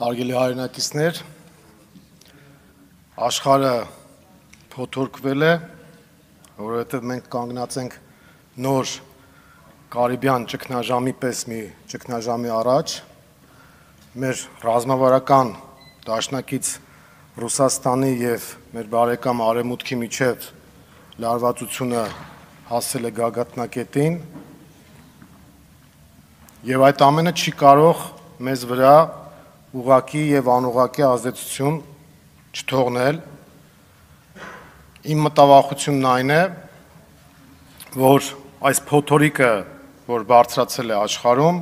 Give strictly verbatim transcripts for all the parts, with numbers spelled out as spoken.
Հարգելի հայրենակիցներ, աշխարհը փոթորկվել է, որովհետև մենք կանգնած ենք նոր Կարիբյան ճգնաժամի պես մի ճգնաժամի առաջ, մեր ռազմավարական դաշնակից Ռուսաստանի եւ մեր բարեկամ Արևմուտքի միջև լարվածությունը հասել է գագաթնակետին, եւ այդ ամենը չի կարող մեզ վրա ուղղակի եւ անուղղակի ազդեցություն չթողնել։ Իմ մտավախությունն այն է, որ այս փոթորիկը, որ բարձրացել է աշխարհում,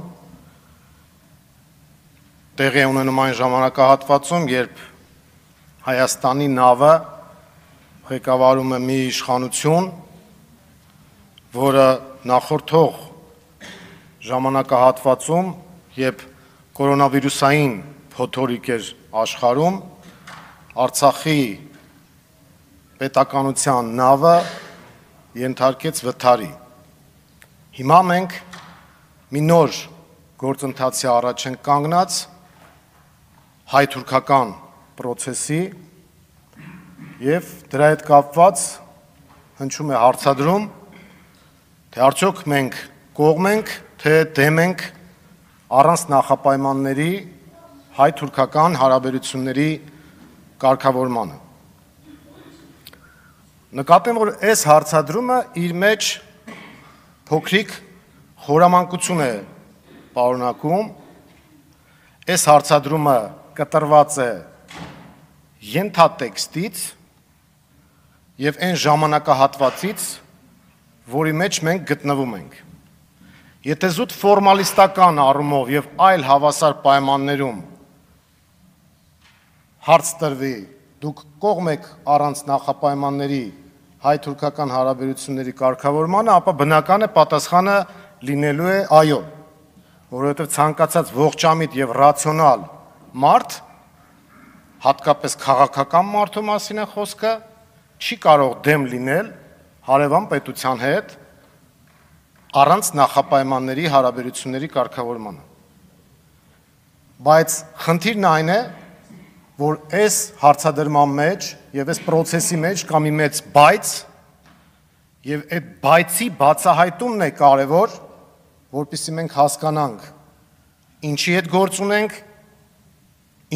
տեղի է ունենում այն ժամանակահատվածում, երբ Հայաստանի նավը ղեկավարում է մի իշխանություն, որը նախորդող ժամանակահատվածում, երբ կորոնավիրուսային փոթորիկ էր աշխարհում, Արցախի պետականության նավը ենթարկեց վթարի։ Հիմա մենք մի նոր գործընթացի առաջ ենք կանգնած հայ-թուրքական պրոցեսի եւ դրա հետ կապված հնչում է հարցադրում, թե արդյոք մենք կողմ ենք, թե դեմ ենք առանց նախապայմանների հայ-թուրքական հարաբերությունների կարգավորմանը։ Նկատեմ, որ այս հարցադրումը իր մեջ փոքրիկ խորամանկություն է պարունակում, այս հարցադրումը կտրված է ենթատեքստից եւ այն ժամանակահատվածից, որի մեջ մենք գտնվում ենք։ Եթե զուտ ֆորմալիստական առումով եւ այլ հավասար պայմաններում հարց տրվի, դուք կողմ եք առանց նախապայմանների հայ-թուրքական հարաբերությունների կարգավորմանը, ապա բնական է պատասխանը լինելու է այո, որովհետեւ ցանկացած ողջամիտ եւ ռացիոնալ մարդ, հատկապես քաղաքական մարդու մասին է խոսքը, չի կարող դեմ լինել հարևան պետության հետ առանց նախապայմանների հարաբերությունների կարգավորմանը։ Բայց խնդիրն այն է, որ այս հարցադրման մեջ եւ այս process-ի մեջ կա մի մեծ բայց եւ այդ բայցի բացահայտումն է կարեւոր, որպեսզի մենք հասկանանք ինչի հետ գործ ունենք,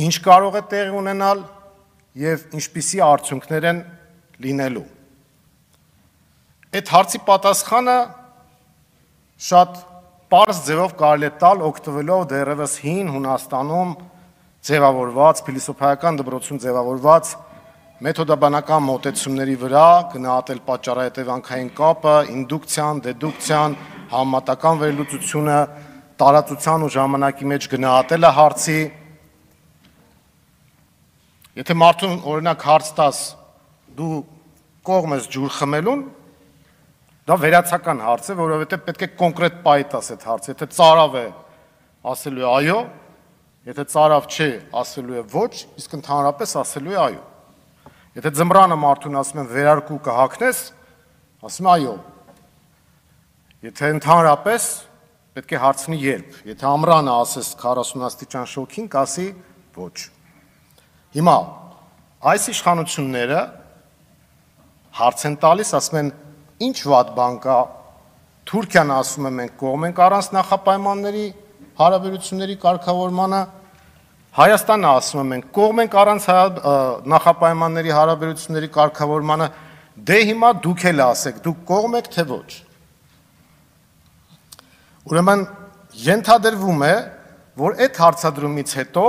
ինչ կարող է տեղի ունենալ եւ ինչպիսի արդյունքներ են լինելու։ Այդ հարցի պատասխանը շատ պարզ ձևով կարելի է տալ օգտվելով դեռևս հին Հունաստանում ձևավորված, փիլիսոփայական դպրոցում ձևավորված մեթոդաբանական մոտեցումների վրա, գնահատել պատճառահետևանքային կապը, ինդուկցիան, դեդուկցիան, համեմատական վերլուծությունը, տարածության ու ժամանակի մեջ գնահատելը հարցի։ Եթե մարդուն օրինակ հարց տաս, դու կողմ ես ջուր խմելուն, դա վերացական հարց է, որովհետև պետք է կոնկրետ պայտ տաս այդ հարցը, եթե ծարավ է, ասելու է այո, եթե ծարավ չէ, ասելու է ոչ, իսկ ընդհանրապես ասելու է այո։ Եթե ձմռանը մարդուն ասում են վերարկու կհագնես, ասում է այո։ Եթե ընդհանրապես պետք է հարցնի երբ, եթե ամռանը ասես քառասուն աստիճան շոգին, կասի ոչ։ Հիմա այս իշխանությունները հարց են տալիս, ասում են ինչ վատ բան կա, Թուրքիան ասում է մենք կողմ ենք առանց նախապայմանների հարաբերությունների կարգավորմանը, Հայաստանը ասում է մենք կողմ ենք առանց նախապայմանների հարաբերությունների կարգավորմանը, դե հիմա դուք էլ ասեք, դուք կողմ եք թե ոչ։ Ուրեմն ենթադրվում է, որ այդ հարցադրումից հետո,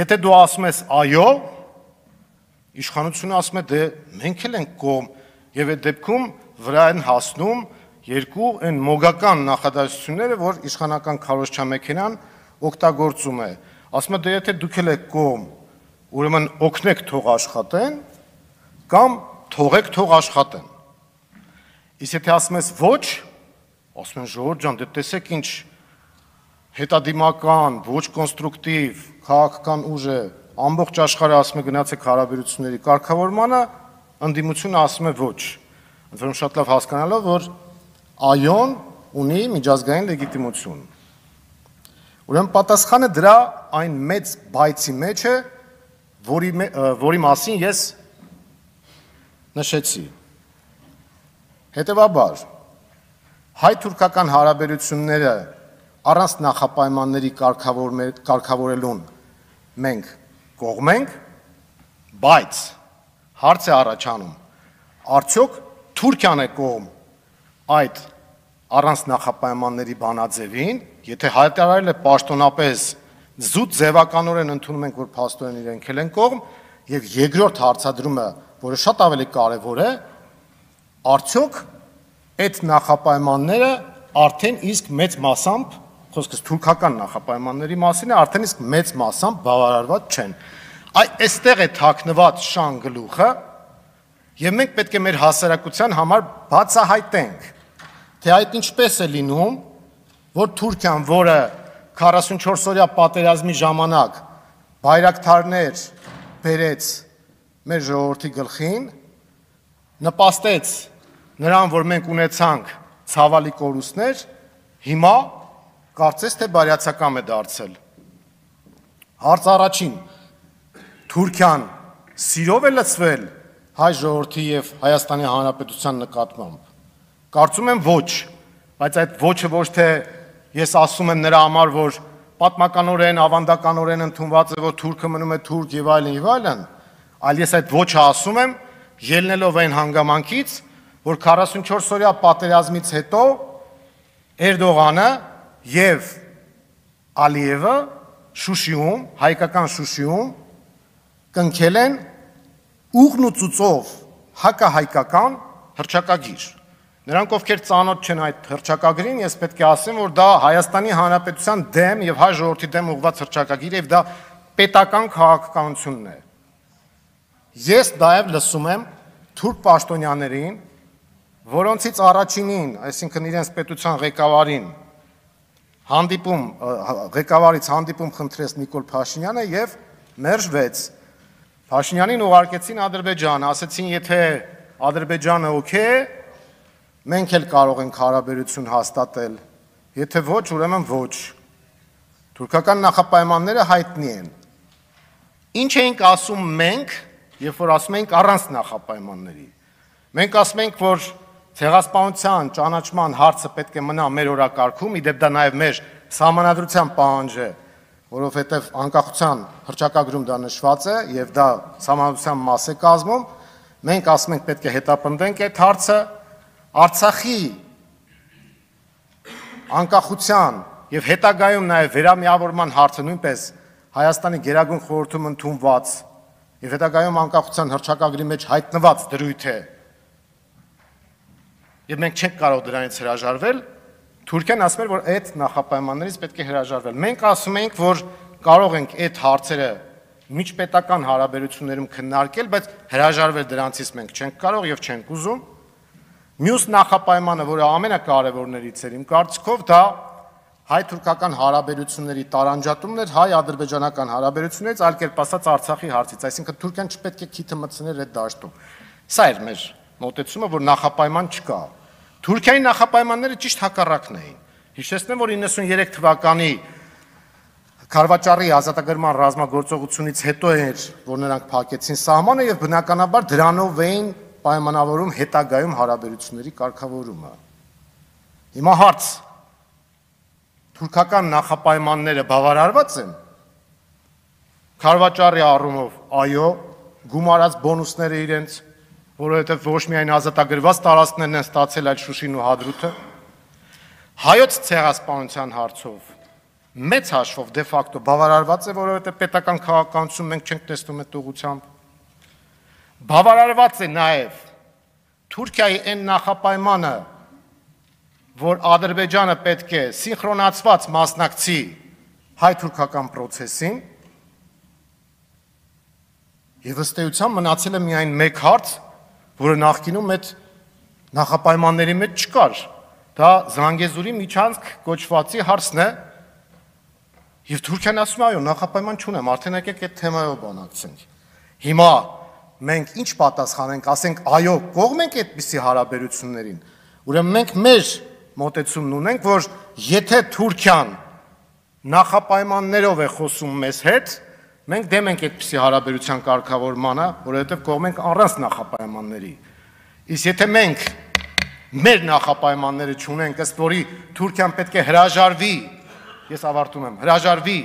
եթե դու ասում ես այո, իշխանությունը ասում է դե մենք էլ ենք կողմ, եւ այդ դեպքում վրա են հասնում երկու այն մոգական նախադասությունները, որ իշխանական քարոզչամեքենան օգտագործում է։ Ասում է դե եթե դուք էլ եք կողմ, ուրեմն օգնեք թող աշխատեն, կամ թողեք թող աշխատեն։ Իսկ եթե ասում ես ոչ, ասում են Ժողովուրդ ջան, դե տեսեք ինչ հետադիմական, ոչ կոնստրուկտիվ, քաղաքական ուժ է, ամբողջ աշխարհը ասում է գնացեք հարաբերությունների կարգավորմանը, ընդդիմությունը ասում է ոչ։ Ընդ որում շատ լավ հասկանալով, որ այոն ունի միջազգային լեգիտիմություն։ Ուրեմն պատասխանը դրա այն մեծ բայցի մեջ է, որի, որի մասին ես նշեցի։ Հետևաբար, հայ-թուրքական հարաբերությունները առանց նախապայմանների կարգավորելուն մենք կողմ ենք, բայց հարց է առաջանում, արդյոք Թուրքիան է կողմ այդ առանց նախապայմանների բանաձևին, եթե հայտարարել է պաշտոնապես զուտ ձևականորեն ընդունում ենք, որ փաստորեն իրենք էլ են կողմ, եւ երկրորդ հարցադրումը, որը շատ ավելի կարևոր է, արդյոք այդ նախապայմանները արդեն իսկ մեծ մասամբ, խոսքս թուրքական նախապայմանների մասին է, արդեն իսկ մեծ մասամբ բավարարված չեն։ Այստեղ է թաքնված շան գլուխը, եւ մենք պետք է մեր հասարակության համար բացահայտենք, թե այդ ինչպես է լինում, որ Թուրքիան, որը քառասունչորս օրյա պատերազմի ժամանակ բայրակթարներ բերեց մեր ժողովրդի գլխին, նպաստեց նրան, որ մենք ունեցանք ցավալի կորուստներ, հիմա կարծես թե բարյացակամ է դարձել։ Հարց առաջին, Թուրքիան սիրով է լցվել հայ ժողովրդի եւ Հայաստանի Հանրապետության նկատմամբ։ Կարծում եմ ոչ, բայց այդ ոչը ոչ թե ես ասում եմ նրա համար, որ պատմականորեն, ավանդականորեն ընդունված է, որ թուրքը մնում է թուրք եւ այլն եւ այլն, այլ ես այդ ոչը ասում եմ, ելնելով այն հանգամանքից, որ քառասունչորս օրյա պատերազմից հետո Էրդողանը եւ Ալիևը Շուշիում, հայկական Շուշիում կնքել են ուղն ու ծուծով հակահայկական հռչակագիր։ Նրանք, ովքեր ծանոթ չեն այդ հռչակագրին, ես պետք է ասեմ, որ դա Հայաստանի Հանրապետության դեմ եւ հայ ժողովրդի դեմ ուղղված հռչակագիր եւ դա պետական քաղաքականությունն է։ Ես նաեւ լսում եմ թուրք պաշտոնյաներին, որոնցից առաջինին, այսինքն իրենց պետության ղեկավարին, հանդիպում ղեկավարից հանդիպում խնդրեց Նիկոլ Փաշինյանը եւ մերժվեց։ Փաշինյանին ուղարկեցին Ադրբեջան, ասեցին, եթե Ադրբեջանը օքեյ է, մենք էլ կարող ենք հարաբերություն հաստատել, եթե ոչ, ուրեմն ոչ։ Թուրքական նախապայմանները հայտնի են։ Ինչ էինք ասում մենք, երբ որ ասում ենք առանց նախապայմանների։ Մենք ասում ենք, որ ցեղասպանության ճանաչման հարցը պետք է մնա մեր օրակարգում, իդեպ դա նաև մեր սահմանադրության պահանջ է, որովհետև անկախության հռչակագրում դա նշված է եւ դա սահմանադրության մաս է կազմում, մենք ասում ենք պետք է հետապնդենք այդ հարցը, Արցախի անկախության եւ հետագայում նաեւ վերամիավորման հարցը նույնպես Հայաստանի Գերագույն խորհրդում ընդունված եւ հետագայում անկախության հռչակագրի մեջ հայտնված դրույթ է։ Եվ մենք չենք կարող դրանից հրաժարվել, Թուրքիան ասում էր, որ այդ նախապայմաններից պետք է հրաժարվել։ Մենք ասում ենք, որ կարող ենք այդ հարցերը միջպետական հարաբերություններում քննարկել, բայց հրաժարվել դրանցից մենք չենք կարող եւ չենք ուզում։ Մյուս նախապայմանը, որը ամենակարևորներից էր իմ կարծիքով, դա հայ-թուրքական հարաբերությունների տարանջատումն էր հայ-ադրբեջանական հարաբերություններից, այլ կերպ ասած Արցախի հարցից, այսինքն Թուրքիան չպետք է քիթը մտցներ այդ դաշտում։ Սա էր մեր մոտեցումը, որ նախապայման չկա։ Թուրքիայի նախապայմանները ճիշտ հակառակն էին։ Հիշեցնեմ, որ իննսուներեք թվականի Քարվաճարի ազատագրման ռազմագործողությունից հետո էր, որ նրանք փակեցին սահմանը եւ բնականաբար դրանով էին պայմանավորում հետագայում հարաբերությունների կարգավորումը։ Հիմա հարց. թուրքական նախապայմանները բավարարված են։ Քարվաճարի առումով այո, գումարած բոնուսները իրենց, որովհետև ոչ միայն ազատագրված տարածքներն են ստացել, այլ Շուշին ու Հադրութը։ Հայոց ցեղասպանության հարցով մեծ հաշվով դե ֆակտո բավարարված է, որովհետև պետական քաղաքականություն մենք չենք տեսնում այդ ուղղությամբ։ Բավարարված է նաև Թուրքիայի այն նախապայմանը, որ Ադրբեջանը պետք է սինխրոնացված մասնակցի հայ-թուրքական process-ին, եւ ըստ էության մնացել է միայն մեկ հարց, որը նախկինում այդ նախապայմանների մեջ չկար։ Դա Զանգեզուրի միջանցք կոչվածի հարցն է, եւ Թուրքիան ասում է, այո, նախապայման չունեմ, արդեն եկեք այդ թեմայով բանակցենք։ Հիմա մենք ինչ պատասխանենք, ասենք, այո, կողմ ենք այդպիսի հարաբերություններին։ Ուրեմն մենք մեր մոտեցումն ունենք, որ եթե Թուրքիան նախապայմաններով է խոսում մեզ հետ, մենք դեմ ենք այդպիսի հարաբերության կարգավորմանը, որովհետև կողմ ենք առանց նախապայմանների։ Իսկ եթե մենք մեր նախապայմանները չունենք, ըստ որի Թուրքիան պետք է հրաժարվի, ես ավարտում եմ, հրաժարվի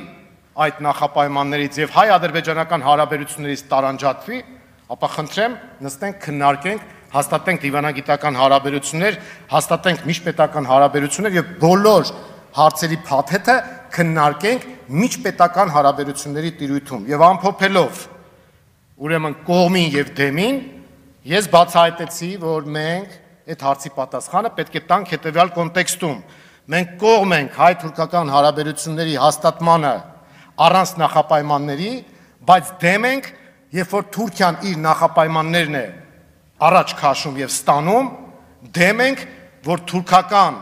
այդ նախապայմաններից եւ հայ-ադրբեջանական հարաբերություններից տարանջատվի, ապա խնդրեմ, նստենք, քննարկենք, հաստատենք դիվանագիտական հարաբերություններ, հաստատենք միջպետական հարաբերություններ եւ բոլոր հարցերի փաթեթը քննարկենք միջպետական հարաբերությունների տիրույթում եւ ամփոփելով ուրեմն կողմին եւ դեմին, ես բացահայտեցի, որ մենք այդ հարցի պատասխանը պետք է տանք հետեւյալ կոնտեքստում։ Մենք կողմ ենք հայ-թուրքական հարաբերությունների հաստատմանը առանց նախապայմանների, բայց դեմ ենք, երբ որ Թուրքիան իր նախապայմաններն է առաջ քաշում եւ ստանում, դեմ ենք, որ թուրքական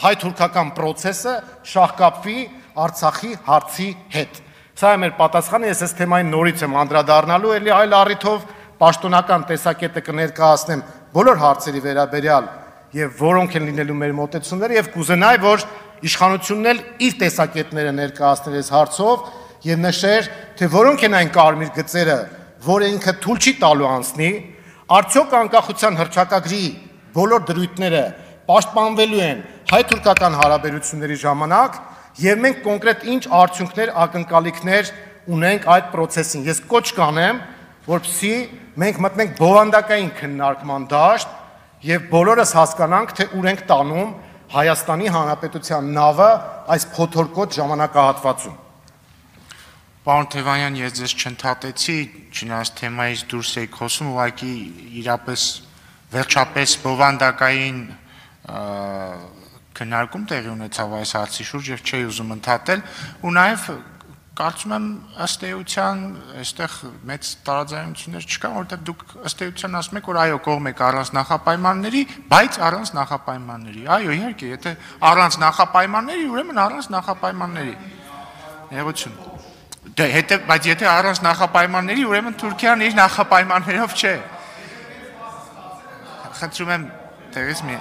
հայ-թուրքական process-ը շահկապվի Արցախի հարցի հետ։ Սա է մեր պատասխանը, ես այս թեմային նորից եմ անդրադառնալու, ելի այլ առիթով պաշտոնական տեսակետը կներկայացնեմ բոլոր հարցերի վերաբերյալ եւ որոնք են լինելու մեր մոտեցումները եւ կուզենայի, որ իշխանությունն էլ իր տեսակետները ներկայացներ այս հարցով եւ նշեր, թե որոնք են այն կարմիր գծերը, որը ինքը թույլ չի տալու անցնի, արդյոք անկախության հռչակագրի բոլոր դրույթները պաշտպանվելու են հայ-թուրքական հարաբերությունների ժամանակ եւ մենք կոնկրետ ինչ արդյունքներ, ակնկալիքներ ունենք այդ process-ին։ Ես կոչ կանեմ, որպեսզի մենք մտնենք բովանդակային քննարկման դաշտ եւ բոլորս հասկանանք, թե ուր ենք տանում Հայաստանի Հանրապետության նավը այս փոթորկոտ ժամանակահատվածում։ Պարոն Թևանյան, ես ձեզ չընդհատեցի, չնայած թեմայից դուրս եք խոսում, ուղղակի իրապես վերջապես բովանդակային քննարկում տեղի ունեցավ այս հարցի շուրջ եւ չի ուզում ընդհատել, ու նաեւ կարծում եմ ըստ էության այստեղ մեծ տարաձայնություններ չկան, որովհետեւ դուք ըստ էության ասում եք, որ այո, կողմ եք առանց նախապայմանների, բայց առանց նախապայմանների։ Այո, իհարկե, եթե առանց նախապայմանների, ուրեմն առանց նախապայմանների։ Ներողություն։ Դե հետո, բայց եթե առանց նախապայմանների, ուրեմն Թուրքիան իր նախապայմաններով չէ։ Խնդրում եմ, տեղից մի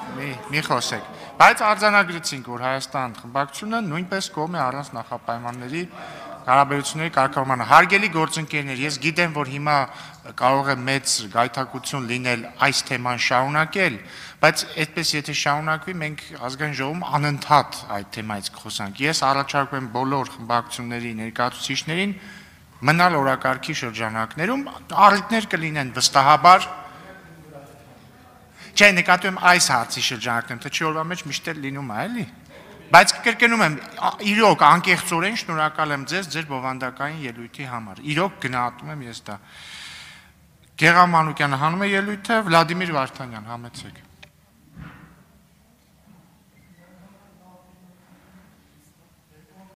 մի խոսեք։ Բայց արձանագրեցինք, որ Հայաստան խմբակցությունը նույնպես կողմ է առանց նախապայմանների հարաբերությունների կարգավորմանը։ Հարգելի գործընկերներ, ես գիտեմ, որ հիմա կարող է մեծ գայթակղություն լինել այս թեման շարունակել, բայց այդպես եթե շարունակվի, մենք ազգային ժողովում անընդհատ այդ թեմայից կխոսանք։ Ես առաջարկում եմ բոլոր խմբակցությունների ներկայացուցիչներին մնալ օրակարգի շրջանակներում, առիթներ կլինեն վստահաբար։ Չէ, նկատում եմ այս հարցի շրջանակներում, թե չի օրվա մեջ միշտ էլ լինում է, էլի։ Բայց կրկնում եմ, իրոք անկեղծորեն շնորհակալ եմ ձեզ ձեր բովանդակային ելույթի համար։ Իրոք գնահատում եմ ես դա։ Գեղամ Մանուկյանը հանում է ելույթը, Վլադիմիր Վարդանյան, համեցեք։